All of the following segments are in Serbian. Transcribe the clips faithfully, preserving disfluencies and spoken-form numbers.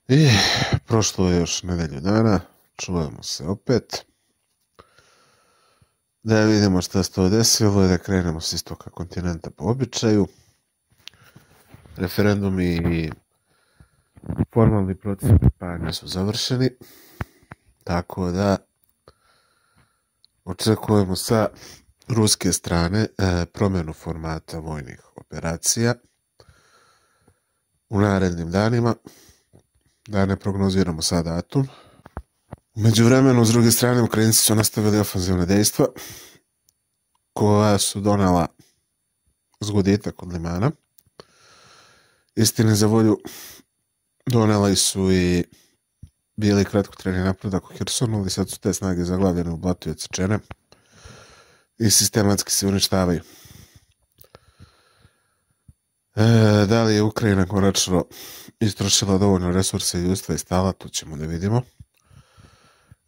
I prošlo je još nedelju dana, čujemo se opet. Da vidimo šta se to desilo i da krenemo s istoka kontinenta po običaju. Referendumi i formalni proces pripajanja su završeni, tako da očekujemo sa ruske strane e, promjenu formata vojnih operacija u narednim danima. Da ne prognoziramo sad datum. U međuvremenu, s druge strane, Ukrajinci su nastavili ofenzivne dejstva koja su donela zgoditak od Limana. Istini za volju, donela su i bili kratkotrajni napredak u Hersonu, ali sad su te snage zaglavljene u blatu i odsečene i sistematski se uništavaju. E, da li je Ukrajina konačno istrošila dovoljno resursa i ljudstva i stala, to ćemo da vidimo.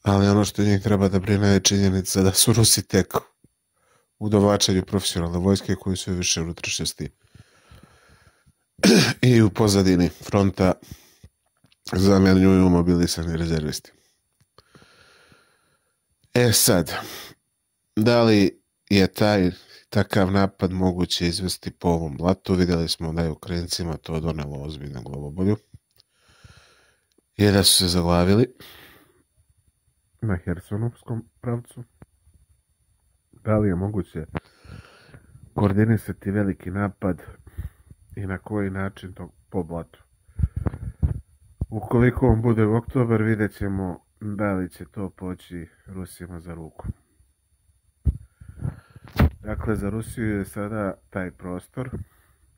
Ali ono što njih treba da brine je činjenica da su Rusi tek u dovačanju profesionalne vojske koji su više unutrašnjosti i u pozadini fronta zamjenjuju mobilisani rezervisti. E sad, da li je taj takav napad moguće izvesti po ovom blatu? Vidjeli smo da je Ukrajincima to donelo ozbiljnu glavobolju i da su se zaglavili na Hersonovskom pravcu. Da li je moguće koordinisati veliki napad i na koji način to po blatu? Ukoliko on bude u oktobar, vidjet ćemo da li će to poći Rusima za ruku. Dakle, za Rusiju je sada taj prostor,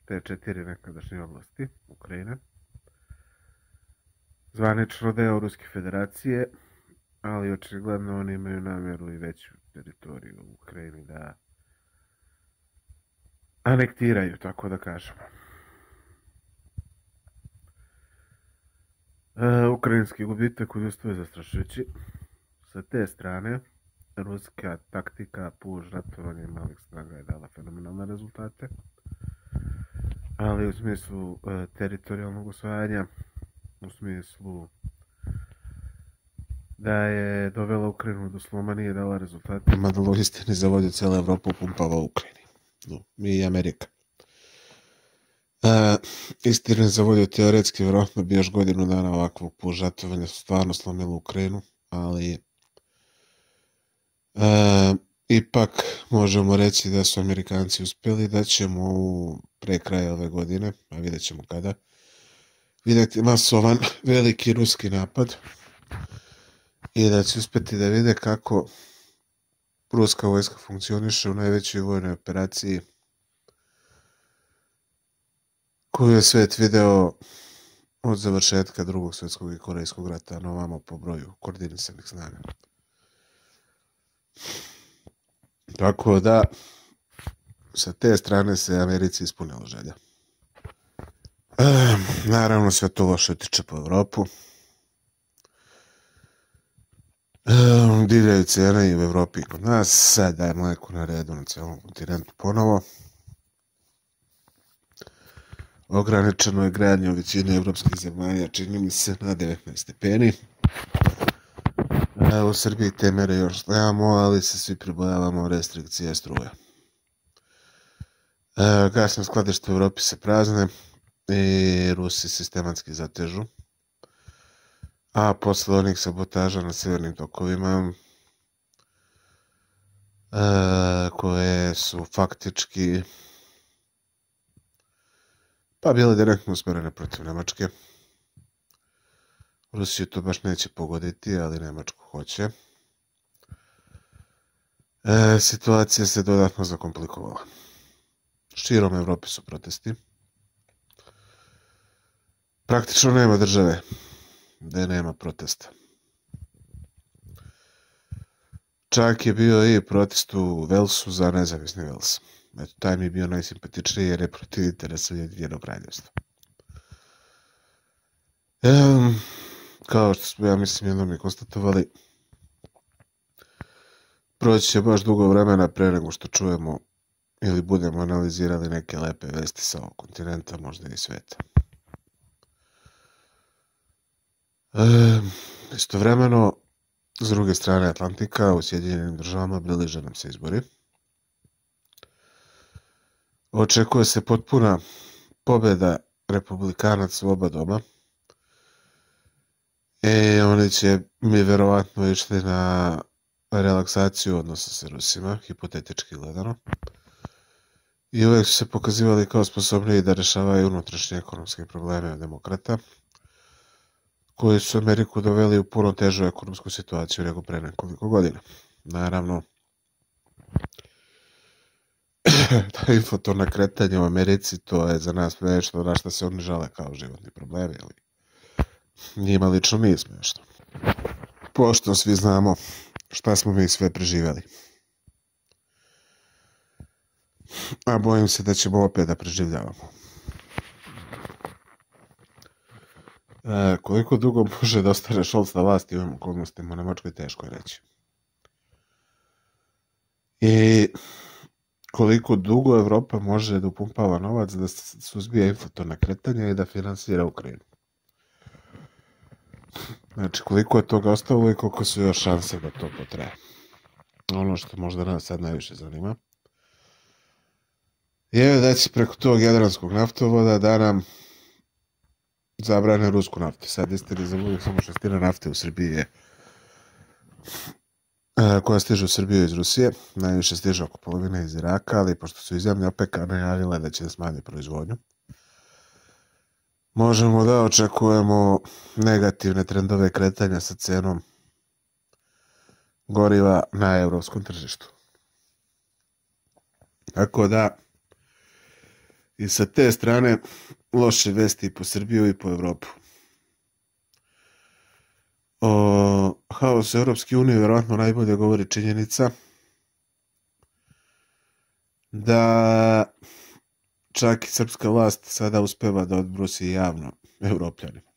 te četiri nekadašnje oblasti Ukrajine, zvanično deo Ruske federacije, ali očigledno oni imaju namjeru i veću teritoriju u Ukrajini da anektiraju, tako da kažemo. E, ukrajinski gubitak u ljudstvu je zastrašujući. Sa te strane, ruska taktika puž ratovanja malih snaga je dala fenomenalne rezultate, ali u smislu e, teritorijalnog osvajanja, u smislu da je dovela Ukrajinu do sloma, nije dala rezultate, mada istini za volju cijela Evropa upumpava u Ukrajini. No, mi i Amerika. E, istini za volju teoretski vjerojatno bi još godinu dana ovakvog pužatovanja stvarno slomilo Ukrajinu, ali e, ipak možemo reći da su Amerikanci uspjeli, da ćemo u pre kraja ove godine, a vidjet ćemo kada, vidjeti masovan veliki ruski napad i da će uspjeti da vide kako ruska vojska funkcioniše u najvećoj vojnoj operaciji koju je svet video od završetka drugog svjetskog i korejskog rata na ovamo po broju koordinisanih snaga. Tako da, sa te strane se Americi ispunila želja. E, naravno, sve to loše tiče po Evropu. E, divljaju cijene i u Evropi i kod nas. Sada je mleko na redu na cijelom kontinentu ponovo. Ograničeno je gradnje u većini evropskih zemalja, čini mi se, na devetnaest stepeni. E, u Srbiji te mere još nemamo, ali se svi pribojavamo restrikcije struje. E, gasne skladište u Evropi se prazne i Rusi sistematski zatežu. A posle onih sabotaža na severnim tokovima, e, koje su faktički pa bile direktno usmjerene protiv Nemačke. Rusiju to baš neće pogoditi, ali Nemačku hoće. E, situacija se dodatno zakomplikovala. Širom Evrope su protesti. Praktično nema države gdje nema protesta. Čak je bio i protest u Velsu za nezavisni Vels. Eto, taj mi je bio najsimpatičniji jer je protiv interesa Ujedinjenog Kraljevstva. Ehm, kao što smo, ja mislim, jednom i konstatovali, proći će baš dugo vremena pre nego što čujemo ili budemo analizirali neke lepe vesti sa ovog kontinenta, možda i sveta. E, istovremeno, s druge strane Atlantika, u Sjedinjenim državama bliže nam se izbori. Očekuje se potpuna pobjeda republikanaca u oba doma. I oni će mi verovatno išli na relaksaciju odnosa sa Rusima, hipotetički gledano. I uvijek su se pokazivali kao sposobniji da rešavaju unutrašnje ekonomske probleme od demokrata, koji su Ameriku doveli u puno težu ekonomsku situaciju nego pre nekoliko godina. Naravno, ta inflatorna kretanja u Americi, to je za nas nešto na što se oni žale kao životni problemi, ali njima lično nije smiješno. Pošto svi znamo šta smo mi sve preživjeli. A bojim se da ćemo opet da preživljavamo. E, koliko dugo može da ostane Scholz na vlasti u ovim okolnostima u Nemačkoj, teško je reći. I koliko dugo Evropa može da upumpava novac da suzbija inflatorna kretanja i da finansira Ukrajinu. Znači, koliko je toga ostalo i koliko su još šanse da to potraje. Ono što možda nas sad najviše zanima je da će preko tog jadranskog naftovoda da nam zabrane rusku naftu. Sad istini za uvijek samo šestina nafte u Srbiji je koja stiže u Srbiju iz Rusije. Najviše stiže oko polovine iz Iraka, ali pošto su iz zemlje OPEC-a najavile da će da smanje proizvodnju, možemo da očekujemo negativne trendove kretanja sa cenom goriva na evropskom tržištu. Tako da, i sa te strane, loše vesti i po Srbiju i po Evropu. O haosu Evropske unije vjerovatno najbolje govori činjenica da čak i srpska vlast sada uspeva da odbrusi javno Evropljanima.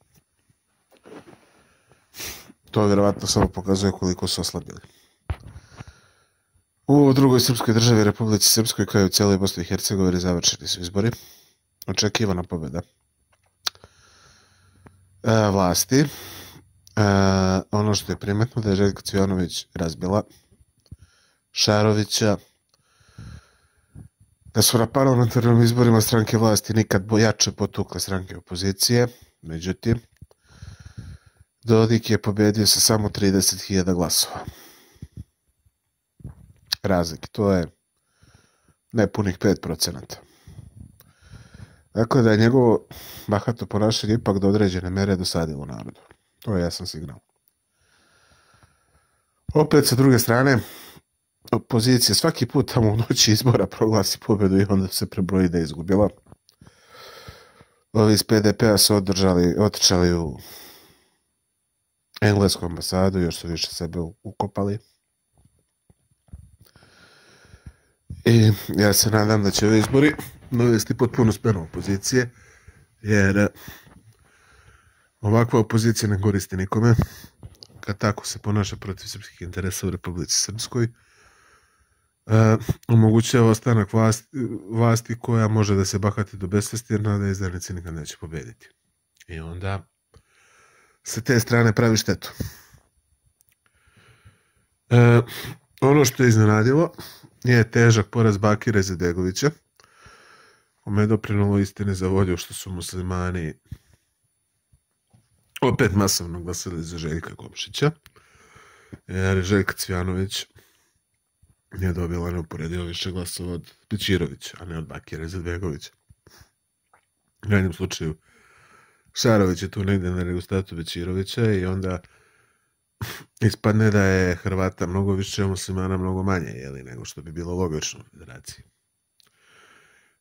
To vjerovatno samo pokazuje koliko su oslabili. U drugoj srpskoj državi, Republici Srpskoj, kao i u cijeloj Bosni i Hercegovini, završeni su izbori. Očekivana pobjeda e, vlasti. E, ono što je primetno da je Željko Cvijanović razbila Šarovića, da su na parlamentarnim izborima stranke vlasti nikad jače potukle stranke opozicije. Međutim, Dodik je pobjedio sa samo trideset hiljada glasova. Razlike, to je nepunih pet procenata. Dakle, da je njegovo bahato ponašanje ipak do određene mere dosadilo narodu. To je jasan signal. Opet, sa druge strane, opozicija svaki put tamo u noći izbora proglasi pobjedu i onda se prebroji da je izgubila. Ovi iz P D P-a su održali, otičali u englesku ambasadu, još su više sebe ukopali. I ja se nadam da će ovi izbori dovesti potpuno smjenu opozicije, jer ovakva opozicija ne koristi nikome. Kad tako se ponaša protiv srpskih interesa u Republici Srpskoj, e, omogućava ostanak vlasti, vlasti koja može da se bahati do besvesti, jer nada izdajnici nikad neće pobediti. I onda sa te strane pravi štetu. E, ono što je iznenadilo je težak poraz Bakira Izetbegovića, kome je doprinulo istine za volju što su muslimani opet masovno glasali za Željka Komšića, jer Željka Cvijanović je dobila neuporedivo više glasova od Bećirovića, a ne od Bakira Izetbegovića. U jednom slučaju Šarović je tu negdje na negostatu Bećirovića i onda ispadne da je Hrvata mnogo više, muslimana mnogo manje, jeli, nego što bi bilo logično u federaciji.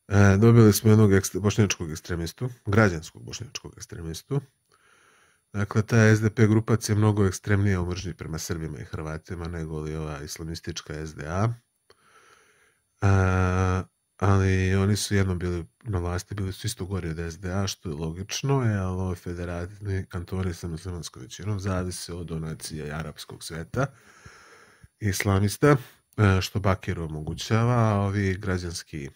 E, dobili smo jednog ekstre, bošnjačkog ekstremistu, građanskog bošnjačkog ekstremistu. Dakle, ta S D P grupacija je mnogo ekstremnija u mržnji prema Srbima i Hrvatima nego li ova islamistička S D A. E, ali oni su jednom bili na vlasti, bili su isto gori od S D A, što je logično, jer ovo federalni kantoni sa muslimanskom većinom zavise od donacija i arapskog sveta, islamista, što Bakiru omogućava, a ovi građanski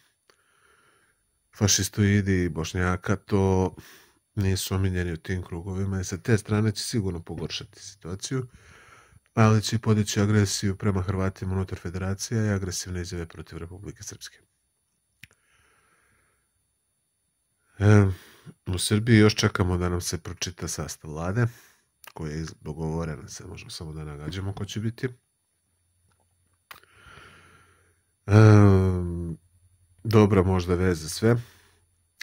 fašistoidi Bošnjaka to nisu omiljeni u tim krugovima i sa te strane će sigurno pogoršati situaciju, ali će podići agresiju prema Hrvatima unutar federacija i agresivne izjave protiv Republike Srpske. E, u Srbiji još čekamo da nam se pročita sastav vlade, koja je dogovorena, se možemo samo da nagađamo ko će biti. E, dobra možda vez za sve,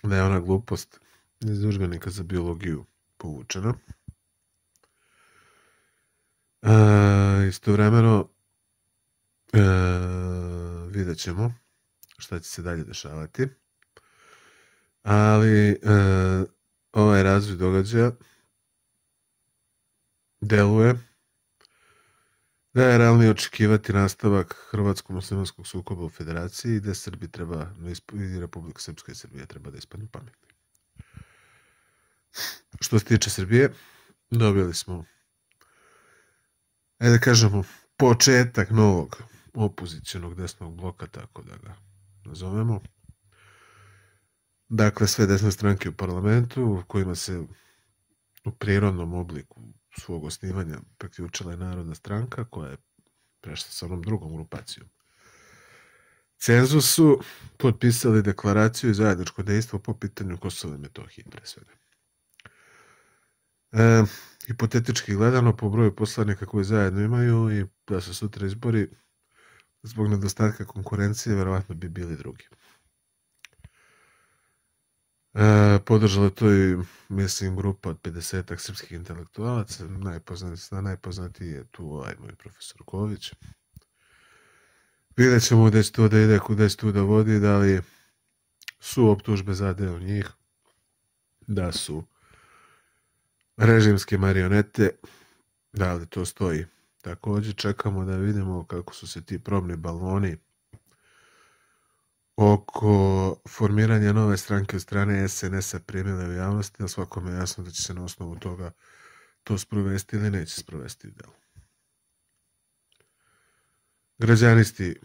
da je ona glupost iz udžbenika za biologiju povučena. E, istovremeno e, vidjet ćemo šta će se dalje dešavati, ali e, ovaj razvoj događaja deluje da je realnije očekivati nastavak hrvatsko-muslimanskog sukoba u federaciji, gde Srbi treba, i Republika Srpska i Srbija treba da ispadnu pametni. Što se tiče Srbije, dobili smo, ajde da kažemo, početak novog opozicionog desnog bloka, tako da ga nazovemo. Dakle, sve desne stranke u parlamentu, kojima se u prirodnom obliku svog osnivanja priključila je Narodna stranka, koja je prešla sa onom drugom grupacijom cenzusu, potpisali deklaraciju i zajedničko dejstvo po pitanju Kosova i Metohije, pre svega. E, hipotetički gledano, po broju poslanika koji zajedno imaju i da su sutra izbori, zbog nedostatka konkurencije, verovatno bi bili drugi. E, podržala to i, mislim, grupa od pedesetak srpskih intelektualaca, najpoznatiji, najpoznatiji je tu ovaj moj profesor Ković. Vidjet ćemo gde će to da ide, kuda će to da vodi, da li su optužbe za deo njih, da su režimske marionete, da li to stoji. Također čekamo da vidimo kako su se ti probni baloni oko formiranja nove stranke od strane S N S-a primile u javnosti, a svakome je jasno da će se na osnovu toga to sprovesti ili neće sprovesti u delu. Građanisti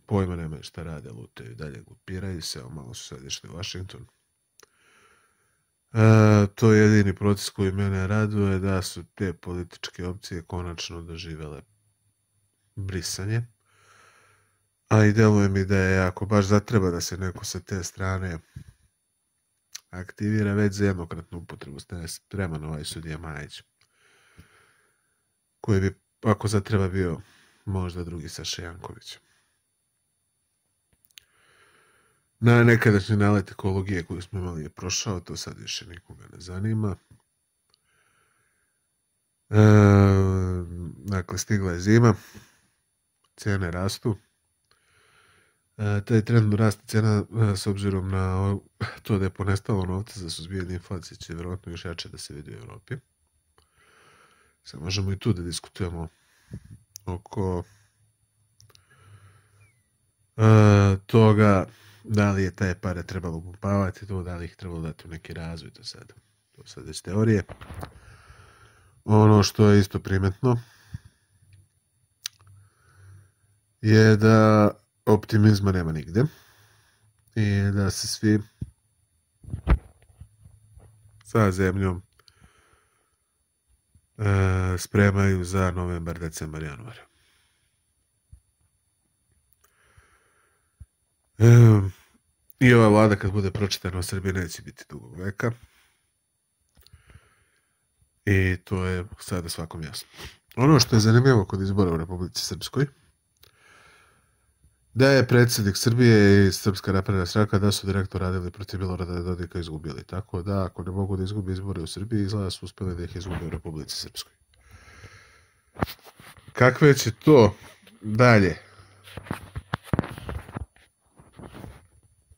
pojma nemaju šta rade, lutaju dalje, glupiraju se, malo su sad išli u Washington. E, to je jedini proces koji mene raduje, da su te političke opcije konačno doživele brisanje. A i deluje mi da je, ako baš zatreba da se neko sa te strane aktivira, već za jednokratnu upotrebu spreman ovaj sudija Majić, koji bi, ako zatreba, bio možda drugi Saša Janković. Na nekadašnji nalet ekologije koju smo imali je prošao, to sad više nikoga ne zanima. E, dakle, stigla je zima, cijene rastu. E, taj trend rasta cena, s obzirom na to da je ponestalo novca za suzbijanje inflacije, će vjerojatno još jače da se vidi u Evropi. Sad možemo i tu da diskutujemo oko e, toga da li je taj pare trebalo upumpavati, to da li ih trebalo dati u neki razvoj, to sad, to sad već teorije. Ono što je isto primetno je da optimizma nema nigde i da se svi sa zemljom e, spremaju za novembar, decembar, januar. E, I ova vlada kad bude pročitana u Srbiji neće biti dugog veka. I to je sada svakom jasno. Ono što je zanimljivo kod izbora u Republici Srpskoj, da je predsjednik Srbije i Srpska napredna stranka da su direktno radili protiv Milorada Dodika i izgubili. Tako da, ako ne mogu da izgubi izbore u Srbiji, izgleda su uspeli da ih izgube u Republici Srpskoj. Kakve će to dalje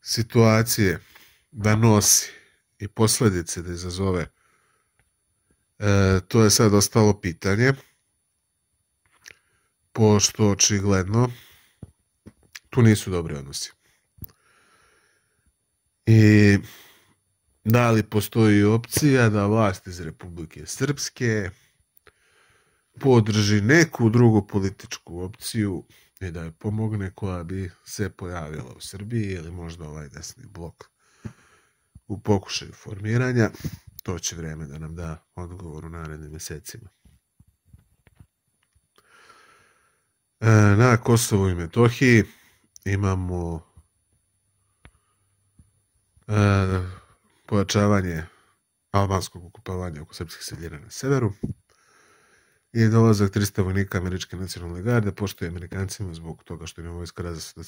situacije da nosi i posljedice da izazove, e, to je sad ostalo pitanje, pošto očigledno tu nisu dobri odnosi. I da li postoji opcija da vlast iz Republike Srpske podrži neku drugu političku opciju i da je pomogne koja bi se pojavila u Srbiji ili možda ovaj desni blok u pokušaju formiranja. to će vrijeme da nam da odgovor u narednim mjesecima. E, na Kosovu i Metohiji imamo e, pojačavanje albanskog okupovanja oko srpskih sredina na severu i dolazak trista vojnika američke nacionalne garde, pošto je Amerikancima zbog toga što im je vojska različita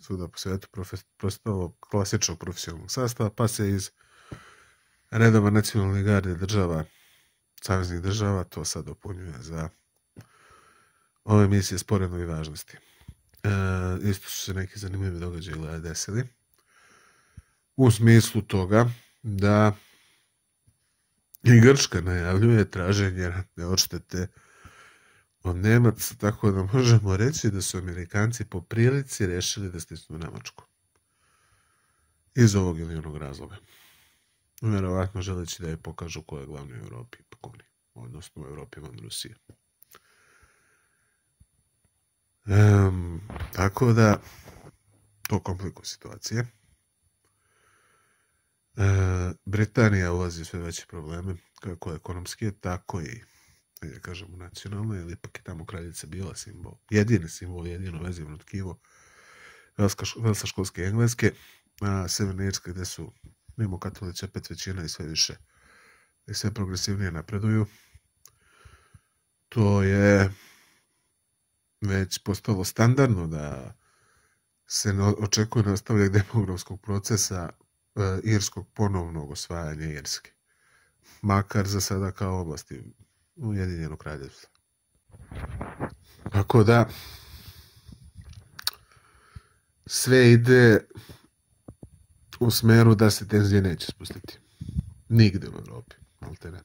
svuda po svijetu postalo klasičnog profesionalnog sastava, pa se iz redova nacionalne garde država, saveznih država, to sad dopunjuje za ove misije sporedne važnosti. E, isto su se neki zanimljivi događaji desili u smislu toga da i Grčka najavljuje traženje ratne odštete od Nemaca, tako da možemo reći da su Amerikanci po prilici rešili da stisnu Nemačku. Iz ovog ili onog razloga. Vjerovatno želeći da je pokažu ko je glavni u Europi, ipak oni, odnosno u Europi van Rusije. Um, tako da, to komplikuje situacije. E, Britanija ulazi u sve veće probleme, kako ekonomske, tako i, da kažemo, nacionalno, jer ipak je tamo kraljica bila simbol, jedini simbol, jedino vezivno tkivo velsa školske Engleske, a Severna Irska gdje su mimo katolici opet većina i sve više i sve progresivnije napreduju. To je već postalo standardno da se očekuje nastavljak demografskog procesa e, irskog ponovnog osvajanja Irske. Makar za sada kao oblasti Ujedinjenog kraljevstva. Tako da sve ide u smeru da se tenzije neće spustiti. Nigde u Europi. Malte ne.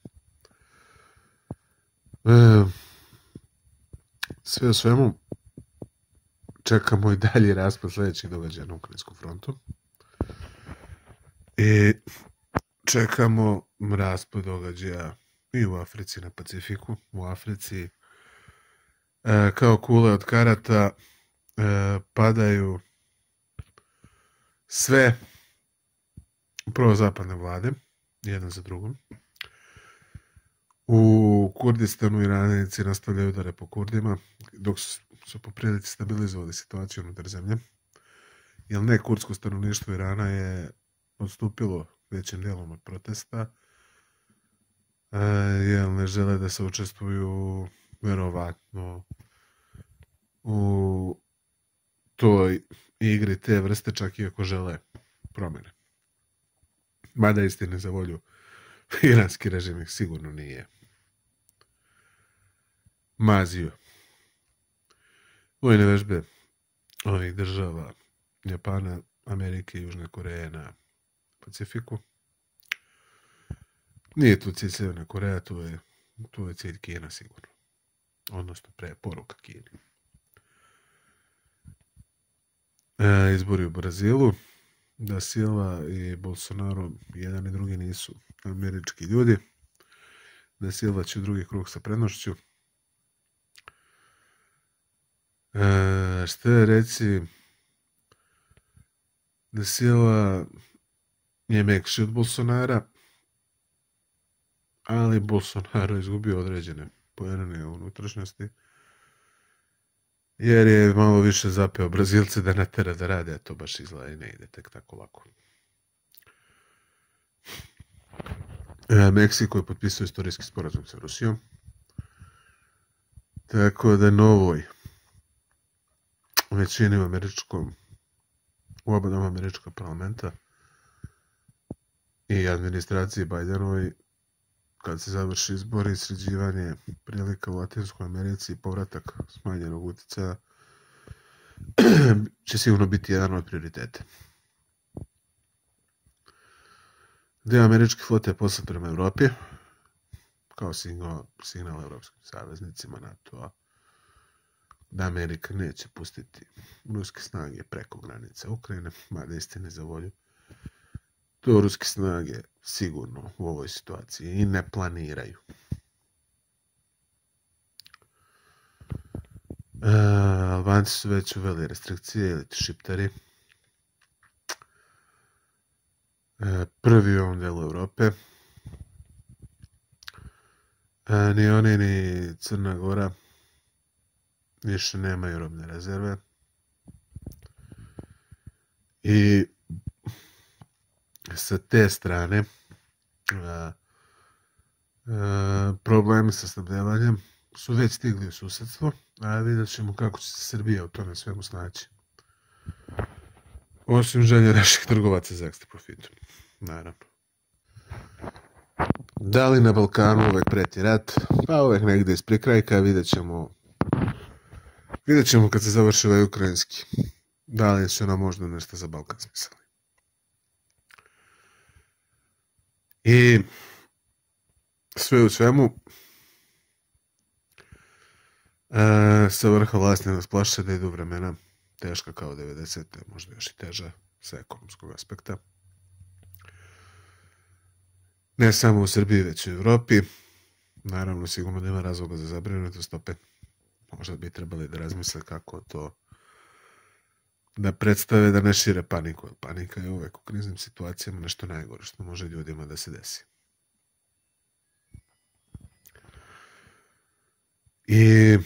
E, sve u svemu čekamo i dalje raspad sljedećih događaja na Ukrajinskom frontu. I čekamo raspad događaja i u Africi na Pacifiku. U Africi e, kao kule od karata e, padaju sve prozapadne vlade, jedan za drugom. U Kurdistanu Iranici nastavljaju udare po Kurdima, dok su, su po prilici stabilizovali situaciju unutar zemlje. Jer ne kurdsko stanovništvo Irana je odstupilo većim dijelom od protesta, e, jer ne žele da se učestvuju verovatno u toj igri te vrste, čak i ako žele promjene. Mada istine za volju iranski režim ih sigurno nije mazio. Vojne vežbe ovih država Japana, Amerike i Južne Koreje na Pacifiku. Nije tu cilj Sjeverna Koreja, tu je, tu je cilj Kina sigurno. Odnosno preporuka Kini. E, izbori u Brazilu. Da Silva i Bolsonaro jedan i drugi nisu američki ljudi. Da Silva će drugi krug sa prednošću. E, što je reći, da Silva je mekši od Bolsonara, ali Bolsonaro izgubio određene poene u unutrašnjosti, jer je malo više zapeo Brazilce da natera da rade, a to baš izgleda i ne ide tek tako lako. E, Meksiko je potpisao istorijski sporazum sa Rusijom, tako da novoj većini u američkom, u oba doma američkog parlamenta i administraciji Bajdenovoj, kad se završi izbori i sređivanje prilika u Latinskoj Americi i povratak smanjenog utjecaja, će sigurno biti jedan od prioriteta. Dio američke flote je poslat prema Evropi, kao signal, signal evropskim saveznicima NATO-a, da Amerika neće pustiti ruske snage preko granice Ukrajine, mada istine za volju. To ruske snage sigurno u ovoj situaciji i ne planiraju. E, Albanci su već uveli restrikcije ili šiptari. E, prvi u ovom delu Europe. A, ni oni ni Crna Gora više nemaju robne rezerve. I sa te strane a, a, problemi sa snabdevanjem su već stigli u susedstvo, a vidjet ćemo kako će se Srbija u tome svemu snaći. Osim želje naših trgovaca za ekstra profitom, naravno. Da li na Balkanu uvek preti rat? Pa uvek negde iz prikrajka, vidjet ćemo vidjet ćemo kad se završi ovaj ukrajinski. Da li su nam možda nešto za Balkan smislili. I sve u svemu e, sa vrha vlasti nas plaše da idu vremena teška kao devedesete, možda još i teža sa ekonomskog aspekta. Ne samo u Srbiji, već i u Evropi. Naravno, sigurno nema razloga za zabrinutost, opet možda bi trebali da razmisle kako to da predstave da ne šire paniku. Panika je uvek u kriznim situacijama nešto najgore što može ljudima da se desi. I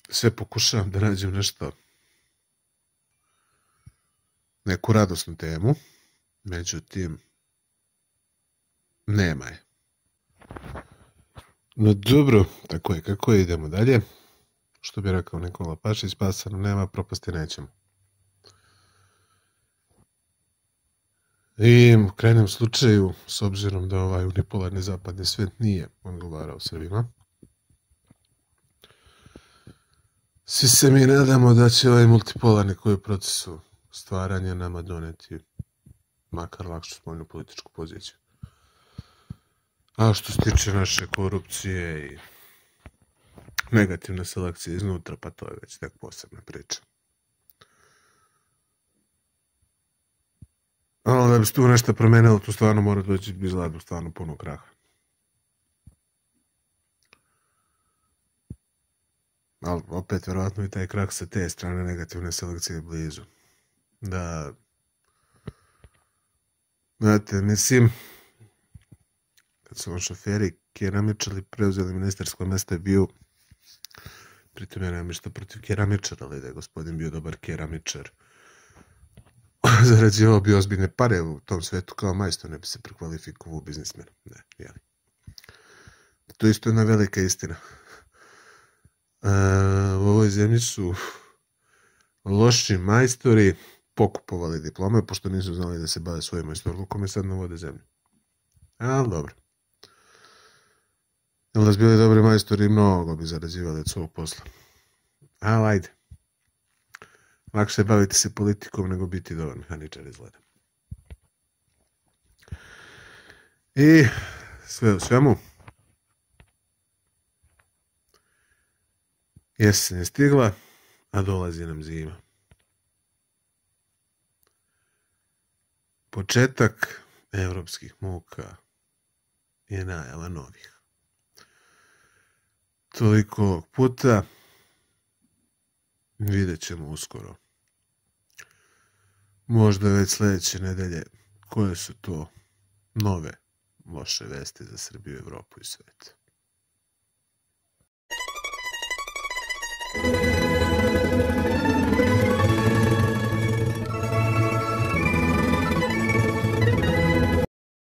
sve pokušavam da nađem nešto, neku radosnu temu, međutim, nema je. No dobro, tako je, kako je, idemo dalje. Što bi rekao Nikola Pašić, spasano nema, propasti nećemo. I u krajnjem slučaju, s obzirom da ovaj unipolarni zapadni svijet nije odgovarao Srbima, svi se mi nadamo da će ovaj multipolarni koji u procesu stvaranja nama doneti makar lakšu spoljnu političku poziciju. A što se tiče naše korupcije i negativne selekcije iznutra, pa to je već tek posebna priča. Ali da bi se tu nešto promenilo, tu stvarno mora doći izgleda stvarno puno kraha. Ali opet, verovatno i taj krah sa te strane negativne selekcije je blizu. Da, znate, mislim, kad su vam šoferi keramičari preuzeli ministarsko mesto je bio, pritom ja nemam ništa protiv keramičara, ali da je gospodin bio dobar keramičar, zarađivao bi ozbiljne pare u tom svetu kao majstor, ne bi se prekvalifikovao u biznismena. Ne, jeli. To isto je jedna velika istina. A, u ovoj zemlji su loši majstori pokupovali diplome, pošto nisu znali da se bave svojim majstorlukom i sad ne vode zemlju. Ali dobro. Jel da su bili dobri majstori, mnogo bi zarađivali od svog posla. Ali ajde. Lakše baviti se politikom nego biti dobar mehaničar izgleda. I sve u svemu, jesen je stigla, a dolazi nam zima. Početak evropskih muka je najava novih. Toliko ovog puta, vidjet ćemo uskoro. Možda već sljedeće nedelje koje su to nove loše vesti za Srbiju, Evropu i svijet.